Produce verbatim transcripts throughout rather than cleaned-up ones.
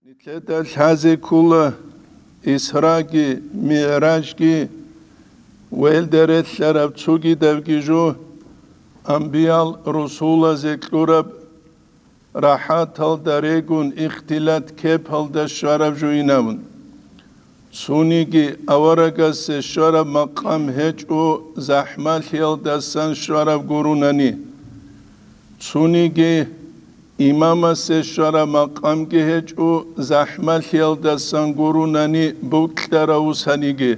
Нилъеда лъазе ккола Исраги МигӀражги, ва гьелда релълъараб цогидабги жо, амбиял-русулазе кьураб рахӀаталда регун ихтилат кепалда щвараб жойин абун. Цониги аварагасе щвараб макъам гьечӀо захӀмалъиялдасан щвараб гурунани. Цониги имамасе щвараб макъамги гьечӀо захӀмалъиялдасан гурунани букьарав вусаниги.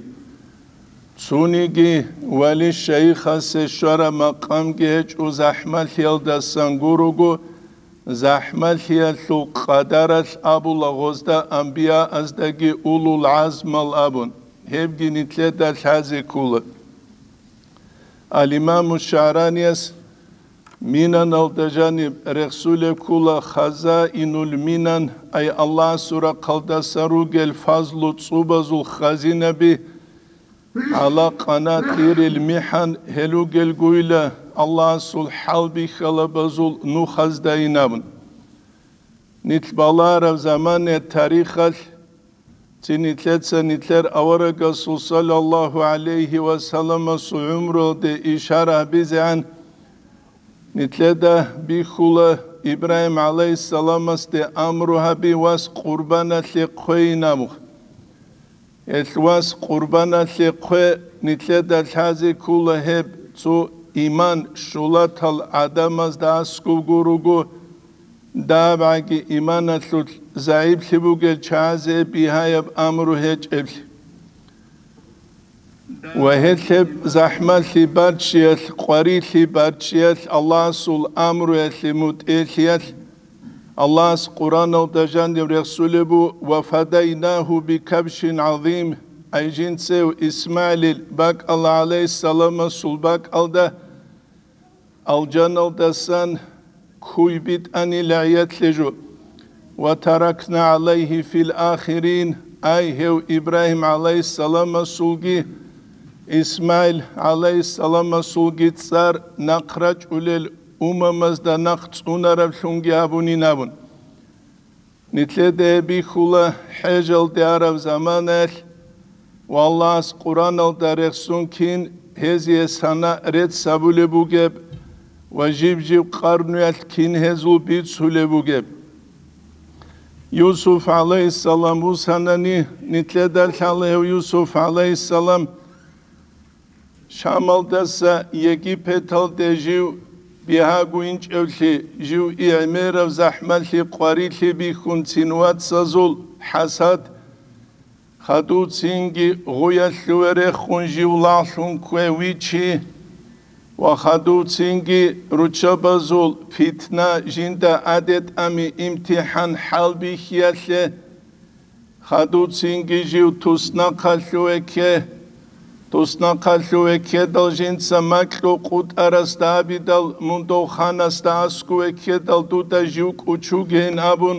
Цониги вали-шайихасе щвараб макъамги гьечӀо захӀмалъиялдасан гуруго, захӀмалъиялъул къадаралъ абула гъозда амбияаздаги улул гӀазмал абун, гьебги нилъеда лъазе ккола. Ал-Имаму ШагӀранияс Минаналда жаниб рехсулеб ккола Хазаинуль Минан, ай Аллагьасул рахъалдасан ругел фазлу цӀубазул хазинаби, гӀала къанатӀирил михӀан, гьел ругелгойила Аллагьасул хӀалбихьалабазул нухаздайин абун. Нилъ балараб замане тарихалъ, цин нилъеца нилъер аварагасул саллаллагьу гӀалайгьи ва салламасул гӀумруялде ишара гьабизегӀан, нилъеда бихьула Ибрагьим гӀалайгьиссаламасде амру гьаби вас къурбаналъе хъвейин абун. Гьелъ вас къурбаналъе хъве, нилъеда лъазе ккола гьеб цо иман щулатал гӀадамазда аскӀоб гуруго, дагьабгӀаги иманалъулъ загӀиплъи бугел чагӀазе бигьаяб амру гьечӀеблъи. Ва гьелъ гьеб захӀмалъи барччиялъ, къварилъи барччиялъ, Аллагьасул амруялъе мутӀигӀлъиялъ, Аллагьас Къуръаналда жаниб рехсулеб бу: «Ва фадайнагьу бикабшин гӀазим», ай жинцев ИсмагӀилил бакӀалда гӀалайгьиссаламасул бакӀалда алжаналдасан куй битӀанила гӀиятлъе жо. «Ва таракна гӀалайгьи фил ахирин», ай гьев Ибрагьим гӀалайгьиссаламасулги ИсмагӀил гӀалайгьиссаламасулги цӀар нахъ рачӀулел умамазда нахъ цӀунараблъунги гьабунин абун. Нилъеда гьеб бихьула хӀежалде араб заманаялъ, ва Аллагьас Къуръаналда рехсон кин гьезие сана рецц гьабулеб бугеб ва жиб-жиб къарнуялъ кин гьезул бицулеб бугеб. Юсуф гӀалайгьиссалам вусанани, нилъеда лъала гьев Юсуф гӀалайгьиссалам Шамалдаса Египеталде жив бигьаго инчӀевлъи, жив гӀемераб захӀмалъи къварилъи бихьун цин вацазул хӀасад, хадув цинги гъуялъуве рехун жив лагълъун ккве вичи ва хадув цинги руччабазул питна жинда адетӀами имтихӀан хӀалбихьиялъе, хадув цинги жив туснахъалъуве кке, туснахъалъуве ккедал жинца макьу къутӀарасда абидал мун дов ханасда аскуве ккедал дуда жив кӀучугейин абун,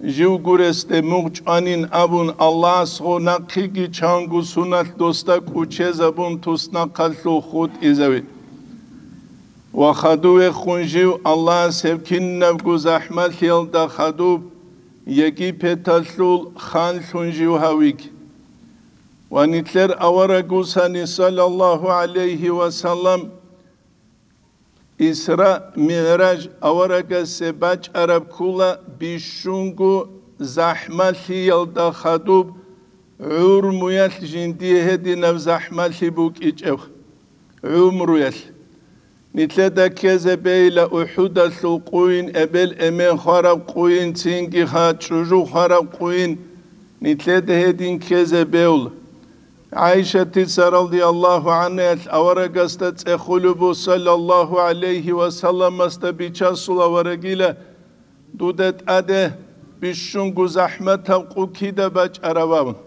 жив гуресде мугъ чӀванин абун, Аллагьас гъо нахъеги чанго суналъ досда кӀучезабун туснахъалъув хутӀизаве. Ва хадувехун жив Аллагьас гьеб кинабго захӀмалъиялда хадуб Египеталъул ханлъун жив гьавиги. Ва нилъер аварагусани, саллаллагьу гӀалайгьи ва саллам, Исра МигӀраж аварагасе бачӀараб ккула бищунго захӀмалъиялда хадуб гӀумруялъ жиндие гьединаб захӀмалъи букӀичӀеб гӀумруялъ. Нилъеда ккезе бейла УхӀудалъул къуйин, эбел-эмен хвараб къуйин, цинги ха чӀужу хвараб къуйин, нилъеда гьедин ккезе беула. ГӀайшатица радияллагьу гӀанхаялъ аварагасда цӀехулеб бу, саллаллагьу гӀалайгьи ва салламасда бичасул аварагила, дуда тӀаде бищунго захӀматаб къу кида бачӀараб абун.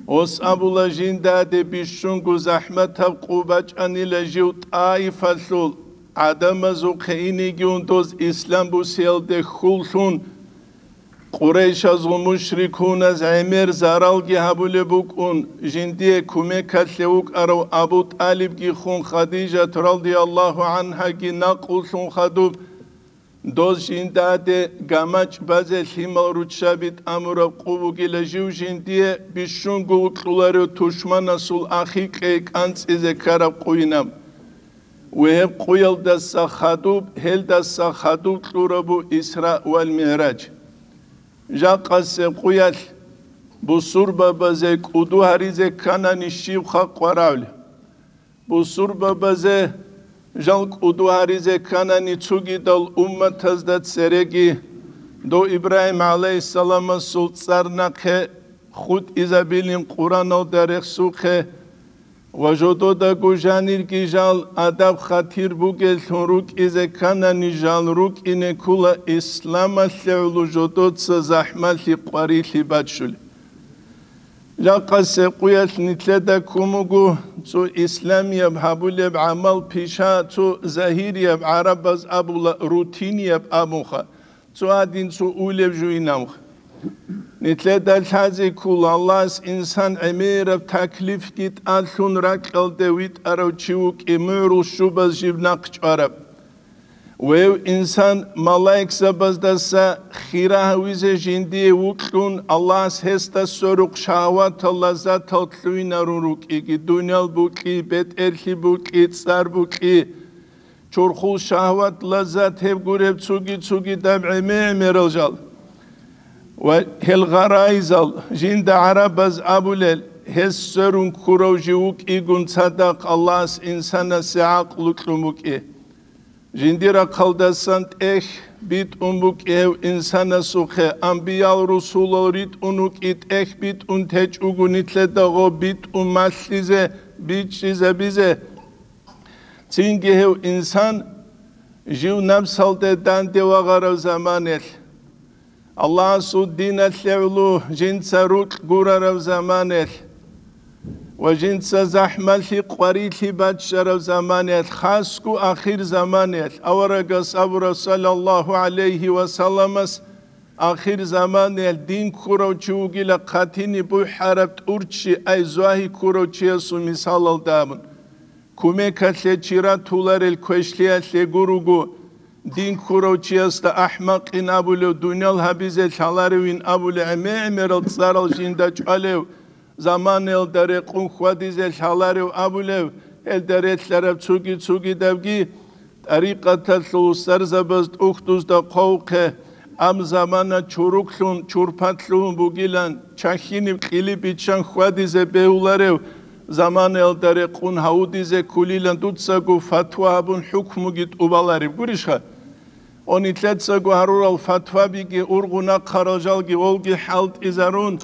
Гьес абула, жиндаде бищунго захӀматаб къу бачӀанила жив ТӀаифалъул гӀадамазухъе инигиун доз ислам бусиялде хьуллъун, Къурайшазул мушрикуназ гӀемер заралги гьабулеб букӀун, жиндие кумекалъе вукӀарав Абу ТӀалибги хун, Хадижат радияллагьу гӀанхаги накъуллъун хадуб, Доз жиндаде гамачӀ базе лъимал руччаби тӀамураб къо бугила жив жиндие бищунго вукьуларев тушманасул ахикье кӀанцӀизе ккараб къойинаб. Ва гьеб къоялдаса хадуб, гьелдаса хадуб кьурабу Исра вал МигӀраж. Жакъасеб къоялъ бусурбабазе кӀуду гьаризе кканани щиб халкъ варавли? Бусурбабазе жал кӀуду гьаризе кканани цогидал умматазда цереги, дов Ибрагьим гӀалайгьиссаламасул цӀар нахъе хутӀизабилин Къураналда рехсухъе ва жододаго жанирги жал адаб-хатир бугеллъун рукӀизе кканани жал рукӀине ккула исламалъе гӀоло жодоца захӀмалъи къварилъи баччулеб. Жакъасеб къоялъ нилъеда ккун буго цо исламияб гьабулеб гӀамал-пиша, цо загьирияб, гӀарабаз абула, рутинияб абунха, цо гьадин цо улеб жуинамха. Нилъеда лъазе ккола Аллагьас инсан гӀемераб таклифги тӀалъун ракьалде витӀарав чи вукӀи мугӀрул щубаз жиб нахъ чӀвараб. Вев инсан, малаикзабаздаса хира гьавизе жиндие вукьун, Аллагьас гьесда сверухъ шагьаватал лаззатал лъугьинарун рукӀиги, дуниял букӀи, бетӀерлъи букӀи, цӀар букӀи, чорхол шагьават, лаззат гьеб гуреб цуги-цугидаб гӀемер-гӀемерал жал. Ва гьел гъарайзал, жинда гӀарабаз абулел, гьес сверун ккурав жив вукӀигун цадахъ Аллагьас инсанасе гӀакълу кьун букӀи. Жиндир рахъалдасан тӀехь битӀун букӀи гьев инсанасухъе, анбиял-русулал ритӀун вукӀи тӀехь битӀун течӀого нилъеда гъо битӀун малъизе, бичӀчӀизабизе. Цинги гьев инсан жив напсалде данде вагъарав заманелъ, Аллагьасул диналъе гӀоло жинца рукь гурарав заманелъ ва жинца захӀмалъи къварилъи баччарав заманелъ, хасго ахир заманелъ, аварагас абураб саллаллагьу гӀалайгьи ва салламас, ахир заманелъ дин ккурав чи вугила хъатине бухӀараб тӀурччи, ай, зугьи ккурав чиясул мисалалда абун. Кумекалъе чи ратуларел квешлъиялъе гуруго, дин ккурав чиясда ахӀмакъин абулев, дуниял гьабизе лъаларевин абулев, гӀемер-гӀемерал цӀарал жинда чӀвалев, заманаялда рекъун хьвадизе лъаларев абулев, гьелда релълъараб цуги-цугидабги тӀарикъаталъул устарзабаз тӀухьдузда хъвавухъе, Аб замана чуруклъун, чурпатлъун бугилан, чахьиниб кьили биччан хьвадизе бегьуларев заманаялда рекъун гьавудизе ккулилан дуцаго фатва гьабун хӀукмуги тӀубалареб гурищха? О, нилъецаго гьарурал фатвабиги ургъун ахъарал жалги волги хӀалтӀизарун,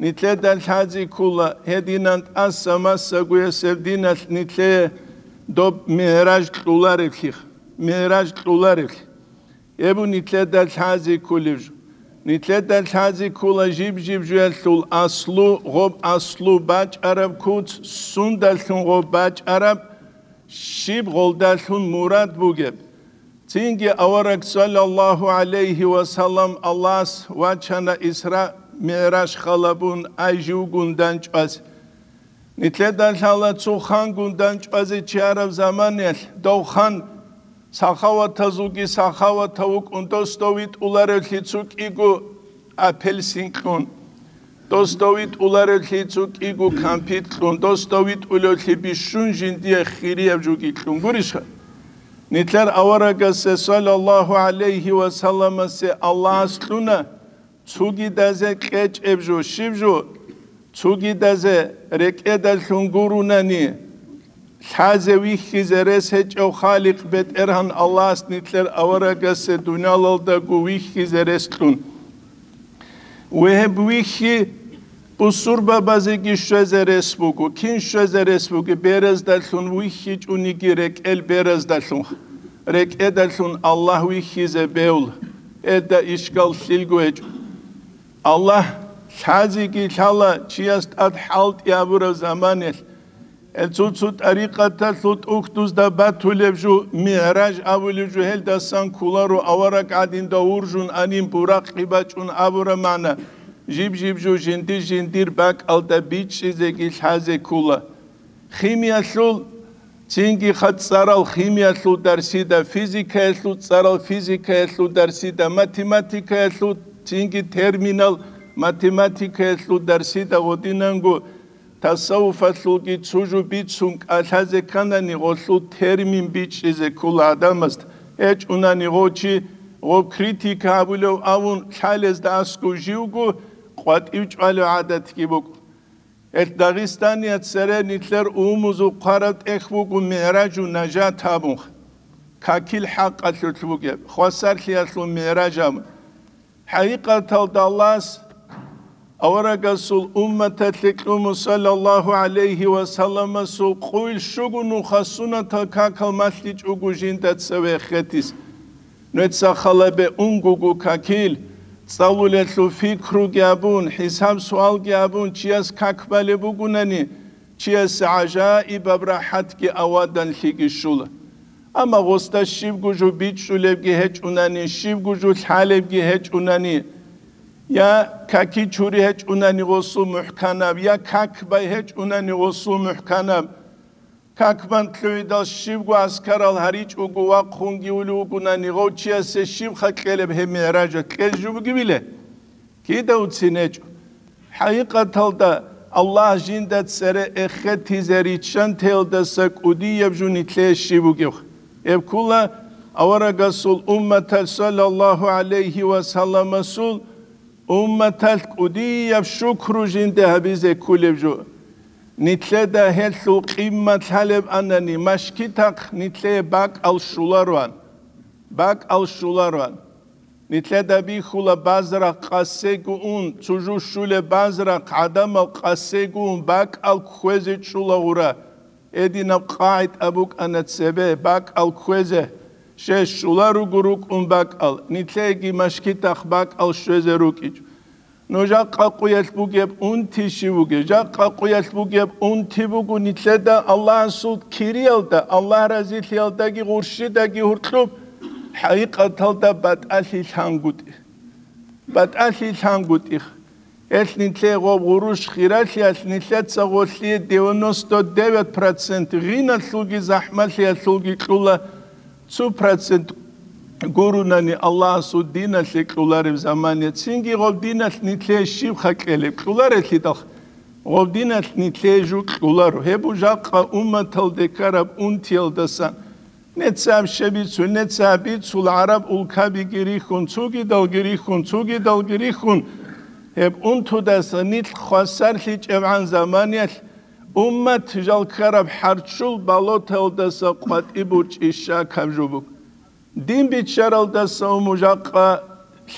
нилъеда лъази ккула, гьединан тӀаса-масагоясеб диналъ нилъее доб мигӀраж кьолареблъи, мигӀраж кьолареблъи. Гьеб нилъеда лъази ккулеб жо. Нилъеда лъази ккула жиб-жиб жоялъул аслу, гъоб аслу бачӀараб куц, сундалъун гъоб бачӀараб, щиб гъолдалъун мурад бугеб. Цинги авараг саллаллагьу гӀалайгьи ва саллам Аллагьас вачана Исра МигӀраж халабун ай живгун данчӀваз. Нилъеда лъала цо хангун данчӀвазе чиараб заманаялъ, дов хан сахаватазулги сахаватав вукӀун, дос дов витӀуларевлъи цо кӀиго апельсин кьун, дос дов витӀуларевлъи цо кӀиго кампит кьун, дос дов витӀулевлъи бищун жиндие хирияб жуги кьун гурищха? Нилъер аварагасе, саллаллагьу гӀалайгьи ва салламасе, Аллагьас кьуна, цугидазе кьечӀеб жо, щиб жо? Цугидазе рекӀедалъун гурунани, лъазе вихьизе рес гьечӀев Халикъ БетӀергьан Аллагьас нилъер аварагасе дуниялалдаго вихьизе рес кьун. Ва гьеб вихьи бусурбабазеги щвезе рес буго. Кин щвезе рес буго? Бераздалъун вихьичӀониги рекӀел бераздалъун, рекӀедалъун Аллагь вихьизе бегьула. Гьелда ишкал лъилго гьечӀо. Аллагь лъазеги лъала чияс тӀад хӀалтӀи гьабураб заманаялъ. Гьел цо-цо тӀарикъаталъул тӀухьдузда батулеб жо, мигӀраж абулеб жо, гьелдасан кколаро авараг гӀадинда вуржун анин, буракъи бачӀун абураб магӀна. Жиб-жиб жо жиндир-жиндир бакӀалда бичӀчӀизеги лъазе ккола. Химиялъул Цинги хъацӀцӀарал химиялъул дарсида, физикаялъул цӀарал физикаялъул дарсида, математикаялъул, цинги терминал математикаялъул дарсида гъодинанго тасаввуфалъулги цо жо бицун кӀалъазе кканани, гъолъул термин бичӀчӀизе ккола гӀадамазда. ГьечӀунани гъо чи, гъо критика гьабулев авун лъалезда аскӀов живго къватӀив чӀвалев гӀадатги букӀун. Гьел Дагъистаният цере нилъер умумузул хъвараб тӀехь буго МигӀражу нажат абун, какил хӀакъалъулъ бугеб, хвасарлъиялъул МигӀраж абун. ХӀакъикъаталда Аллагьас аварагасул умматалъе кьуму, саллаллагьу гӀалайгьи ва салламасул, къуйл щуго нуха сунатал какал малъичӀого жинда цеве хетис. Нуца халабе унгуго какил, цӀалулелъул пикруги абун, хӀисаб-суалги абун, чияс как балеб бугунани, чиясе гӀажаибаб рахӀатги аваданлъиги щула. Амма гъосда щибго жо бичӀчӀулебги гьечӀунани, щибго жо лъалебги гьечӀунани, я каки чури гьечӀунани гъосул мухӀканаб, я как бай гьечӀунани гъосул мухӀканаб, как бан лъугӀидал щибго аскарал гьаричӀого вахъунги улев вугунани, гъов чиясе щибха кьелеб гьеб мигӀража кьел жо бугебиле? Кида уцин гьечӀо. ХӀакъикъаталда Аллагь жинда цере эхетизе риччантеялдаса кӀудияб жо нилъее щиб бугеб? Гьеб ккула аварагасул умматалъ, саллаллагьу гӀалайгьи ва салламасул, умматалъ кӀудияб шукру жинде гьабизе кколеб жо. Нилъеда гьелъул къиммат лъалеб анани, машкитахъ нилъее бакӀал щулароан. БакӀал щулароан. Нилъеда бихьула базарахъ къасего ун, цо жо щулеб базарахъ гӀадамал къасего ун бакӀал кквезе чӀула гъура. Гьединаб къагӀида букӀана цебе бакӀал кквезе, щай щуларуго рукӀун бакӀал, нилъееги машкитахъ бакӀал щвезе рукӀичӀо. Нужа къакъуялъ бугеб унти щив вугев? Жакъа къуялъ бугеб унти буго нилъеда Аллагьасул кириялда, Аллагь разилъиялдаги гъурщидаги гьуркьуб, хӀакъикъаталда батӀалъи лъангутӀи. БатӀалъи лъангутӀих. Гьелъ нилъее гъоб гъурущ хиралъиялъ нилъеца гъолъие девяносто девять процент гъиналъулги захӀмалъиялъулги кьула, цо процент гурунани Аллагьасул диналъе кьулареб замане, цинги гъоб диналъ нилъее щибха кьелеб? Кьуларелъидал гъоб диналъ нилъее жо кьуларо. Гьеб жакъа умматалде ккараб унтиялдасан. Нецаб щебицу, нецаб бицул гӀараб улкабиги рихьун, цугидалги рихьун, цугидалги рихьун. Гьеб унтудаса нилъ хвасарлъичӀебгӀан заманиялъ уммат жал ккараб хӀарччул болоталдаса къватӀиб бурчӀи щакаб жо буго. Дин биччаралдаса уму жакъа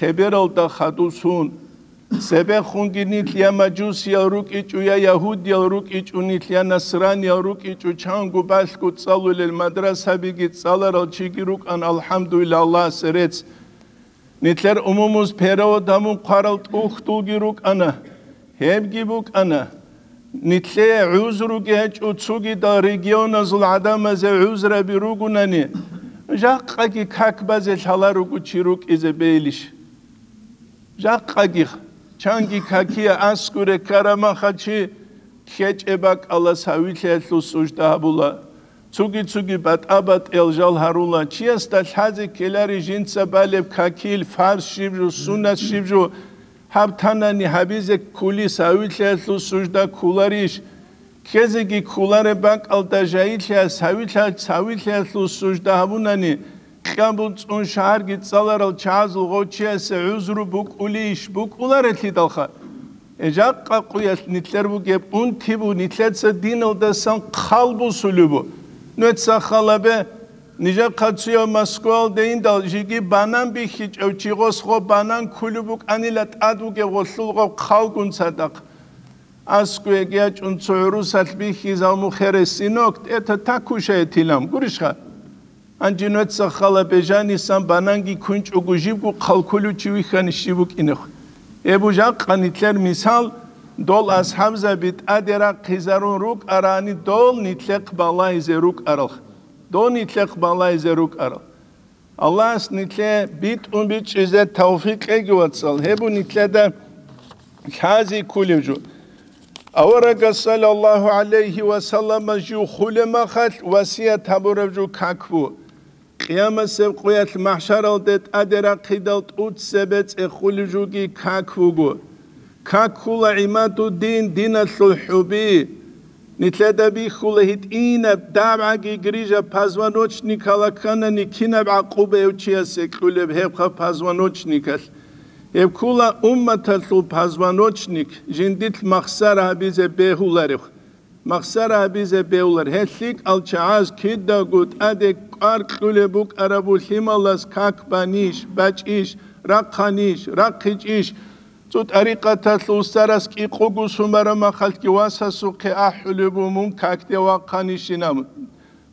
лъебералда хадусун. Цебехунги нилъ я мажусиял рукӀичӀо, я ягьудиял рукӀичӀо, нилъ я насраниял рукӀичӀо, чанго балъго цӀалулел мадрасабиги цӀаларал чиги рукӀан, алхӀамдулиллагь, Аллагьасе рецц. Нилъер умумуз перевод гьабун хъварал тӀухьдулги рукӀана. Гьебги букӀана. Нилъее гӀузруги гьечӀо цугидал регионазул гӀадамазе гӀузраби ругунани, жакъаги как базе лъаларуго чи рукӀизе бейилищ? Жакъаги чанги какие аскуре ккарамаха чи ккечӀеб бакӀалас гьавилъиялъул сужда гьабула. Цуги-цуги батӀа-батӀиял жал гьарула. Чиясда лъазе ккелари жинца балеб какил, фарз щиб жо, суннат щиб жо, гьаб танани гьабизе ккулис гьавилъиялъул сужда ккуларищ? Ккезеги ккулареб бакӀалда жагьиллъиялъ гьавилъа-, гьавилъиялъул сужда гьабунани, кьабул цӀун шагьарги цӀаларал чагӀазул гъов чиясе гӀузру букӀулищ? БукӀуларелъидалха. Э, жакъа къуялъ нилъер бугеб унти бу, нилъеца диналдасан хъал бусулеб бу. Нуца халабе, нижехъа цуяв Москвалде индал жиги банан бихьичӀев чи гъос гъо банан ккулеб букӀанила тӀад бугеб гъолъул гъо хъалгун цадахъ. Аскуеги ячӀун цо гӀурусалъ бихьизал мухере синок, это так кушает илам, гурищха? Гьанже нуца хала бежанисан бананги кунчӀого жибго хъалкулев чи вихьани щиб букӀинехъ? Эбу жакъа нилъер мисал, дол асхӀабзаби тӀаде рахъизарун рукӀарани, дол нилъехъ балагьизе рукӀарал. Дол нилъехъ балагьизе рукӀарал. Аллагьас нилъе битӀун бичӀчӀизе тавфикъ кьеги, вацал. Гьебу нилъеда лъази ккулев жо. Аварагас саллаллагьу гӀалайгьи ва саллама жив хулеб махалъ васият гьабураб жо как бу. Къиямасеб къоялъ махӀшаралде тӀаде рахъидал тӀуцебе цӀехулеб жоги как буго. Как ккула гӀимадуддин, диналъул хӀуби. Нилъеда бихьула гьитӀинаб дагӀбаги грижа позвоночникала кканани, кинаб гӀакъуба гьев чиясе кьулеб гьебха позвоночникалъ? Гьеб ккула умматалъул позвоночник, жиндилъ махсара гьабизе бегьуларев. Махсара гьабизе бегьулар. Гьел лъикӀал чагӀаз кидаго тӀаде кӀвар кьулеб букӀарабу лъималаз как банищ, бачӀищ, рахъанищ, рахъичӀищ? Цо тӀарикъаталъул устарас кӀикъуго сумара махалъги васасухъе ахӀулеб бу мун какде вахъанищинаб.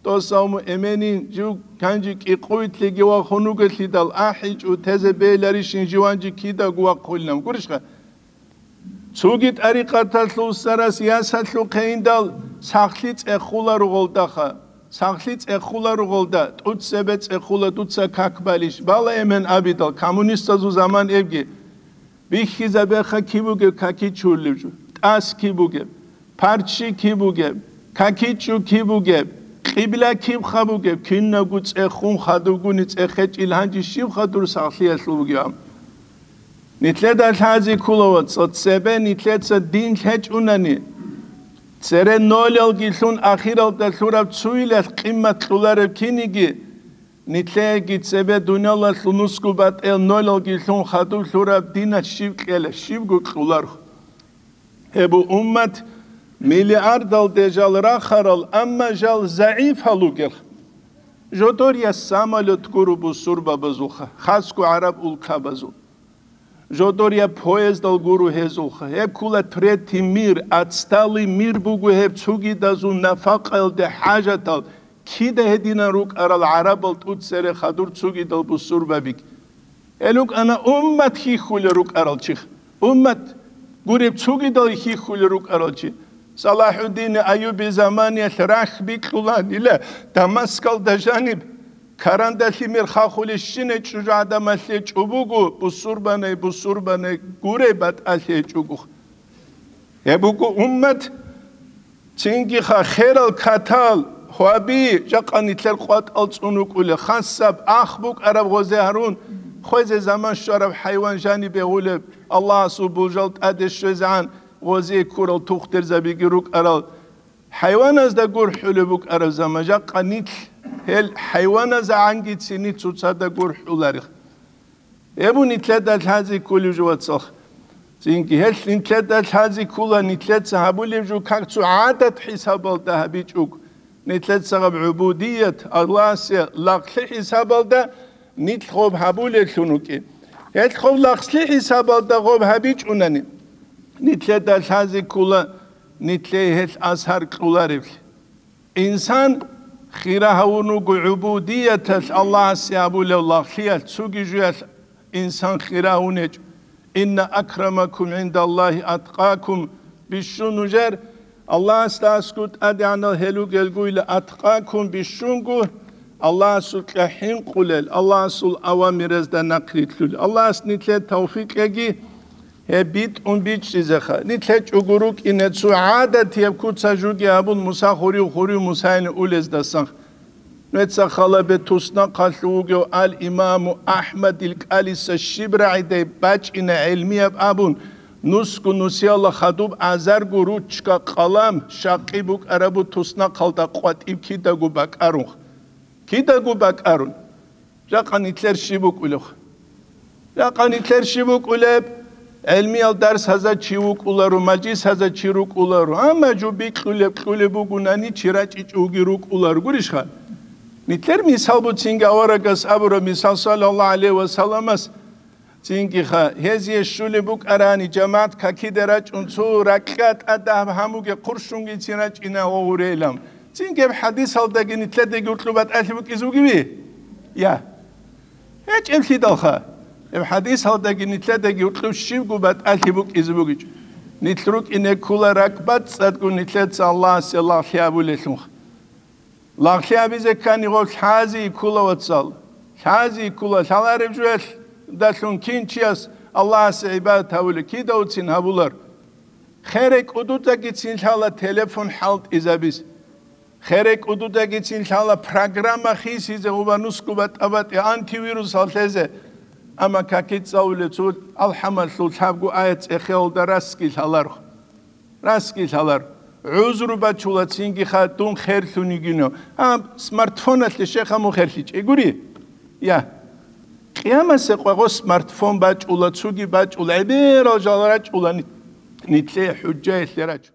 Тосав му эменин жив канжи кӀикъуйтлъиги вахун вугелъидал ахӀичӀо тезе бейларищин живанжи кидаго вахъулинаб. Гурищха? Цоги тӀарикъаталъул устарас ясалъухъе индал сахлъи цӀехула ругъолдаха. Сахлъи цӀехула ругъолда, тӀуцебе цӀехула дуца как балищ, бала эмен абидал, коммунистазул заман эбги. Бихьизабеха киб бугеб какичулев жо, тӀас киб бугеб, парччи киб бугеб, какичӀчӀу киб бугеб, къибла киб хъа бугеб, кинабго цӀехун хадубгуни цӀехечӀил гьанжи щиб хадур сахлъиялъул бугеб? Нилъеда лъази ккула, вацал, цебе нилъеца дин лъечӀунани, цере нолалги лъун ахиралда лъураб цуилалъ къиммат кьулареб киниги, нилъеги цебе дуниялалъул нусгу батӀел нолалги лъун хадуб лъураб дина щиб кьела, щибго кьуларх. Гьеб уммат миллиардалде жал рахарал, амма жал загӀипал ругелха. Жодор я самолет гуру бусурбабазулха, хасго гӀараб улкабазул. Жодор я поездал гуру гьезулха. Гьеб ккула третий мир, отсталый мир буго гьеб цугидазул нафакъаялде хӀажатал, кида гьединан рукӀарал гӀарабал тӀуцере хадур цугидал бусурбабиги. Гьел рукӀана уммат хьихьулел рукӀарал чи. Уммат гуреб цугидал хьихьулел рукӀарал чи. Салахьуддин Айюби заманиялъ рахь бикьуланила Дамаскалда жаниб, карандалъи мер хахулещине чӀужугӀадамалъе чӀубугу, бусурбанай, бусурбанай гуреб батӀалъе чӀугух. Гьеб буго уммат, цинги ха херал катал, гьаби, жакъа нилъер къватӀал цӀун вукӀулел, хасаб, ах букӀараб гъозе гьарун, хвезе заман щвараб хӀайван жанибе гъулеб, Аллагьасул бужал тӀаде щвезегӀан гъозе ккурал тухтурзабиги рукӀарал, хӀайваназда гурхӀулеб букӀараб заман, жакъа нилъ гьел хӀайваназегӀанги цини цоцазда гурхӀуларих. Гьеб нилъеда лъази кколев жо, вацал. Цинги гьел нилъеда лъази ккола, нилъеца гьабулев жо как цо гӀадат хӀисабалда гьабичӀого. Нилъеца гьаб гӀубудият, Аллагьасе лагълъи хӀисабалда нилъ гъоб гьабулеллъун вукӀин. Гьел гъоб лагълъи хӀисабалда гъоб гьабичӀунани, нилъеда лъази ккола, нилъее гьел асар кьоларевлъи. Инсан хира гьавун вуго гӀубудияталъ, Аллагьасе гьабулев лагълъиялъ, цоги жуялъ инсан хира гьавун гьечӀо. «Инна акрамакум гӀиндаллагьи аткъакум», бищун нужер, Аллагьасда аскӀов тӀадегӀанал гьел ругелгойила, аткъакум, бищунго Аллагьасукьа хӀинкъулел, Аллагьасул авамиразда нахърилълъулел. Аллагьас нилъее тавфикъ кьеги, гьеб битӀун бичӀчӀизеха. Нилъ гьечӀого рукӀине цо гӀадатияб куца жуги абун Муса хурив-хурив Мусайилан улездасан. Нуца халабе туснахъалъув вугев ал-Имаму АхӀмадил кӀалиса щиб рагӀидай бачӀина гӀелмияб абун, нусго нусиялда хадуб азарго ручка-къалам, щакъи букӀарабу туснахъалда къватӀиб кидаго бакӀарун. Кидаго бакӀарун. Жакъа нилъер щиб букӀулев? Жакъа нилъер щиб букӀулеб? ГӀелмиял дарс гьаза чи вукӀуларо, мажлис гьаза чи рукӀуларо. Амма жо бикьулеб кьулеб бугунани, чи рачӀичӀоги рукӀуларо. Гурищха? Нилъер мисал буцинги аварагас абураб мисал, саллаллагьу гӀалайгьи ва салламас, цинги ха, гьезие щулеб букӀарани, жамагӀат какиде рачӀун цо ракьа тӀадаб гьамуге хъурщунгицин рачӀина ва гъурейилан. Цинги гьеб хӀадисалдаги нилъедаги гьоркьоб батӀалъи букӀизе бугеби? Я. ГьечӀеблъидалха, гьеб хӀадисалдаги нилъедаги гьоркьоб щибго батӀалъи букӀизе бугичӀо. Нилъ рукӀине ккола ракӀбацӀцӀадго нилъеца Аллагьасе лагълъи абулелъунха. Лагълъи абизе ккани гъоб лъази ккола, вацал. Лъази ккола, лъалареб жоялдалъун кин чияс Аллагьасе гӀибадат гьабулеб, кидавцин гьабулар. Хере кӀудудагицин лъала телефон хӀалтӀизабиз. Хере кӀудудагицин лъала программа хисизе гъуба нусгу батӀа-батӀи антивирусал лъезе. Амма каки цӀалулев цо алхӀамалъул лъабгу аят цӀехеялда расги лъаларх. Расги лъалар. ГӀузру бачула цинги ха дун херлъун йигино. А смартфоналъе щеха мун херлъичӀей гури? Я. Къиямасе къвагъо смартфон бачӀула, цуги бачӀула, гӀеберал жал рачӀула ни-, нитлъе хӀужжаялъе рачӀу.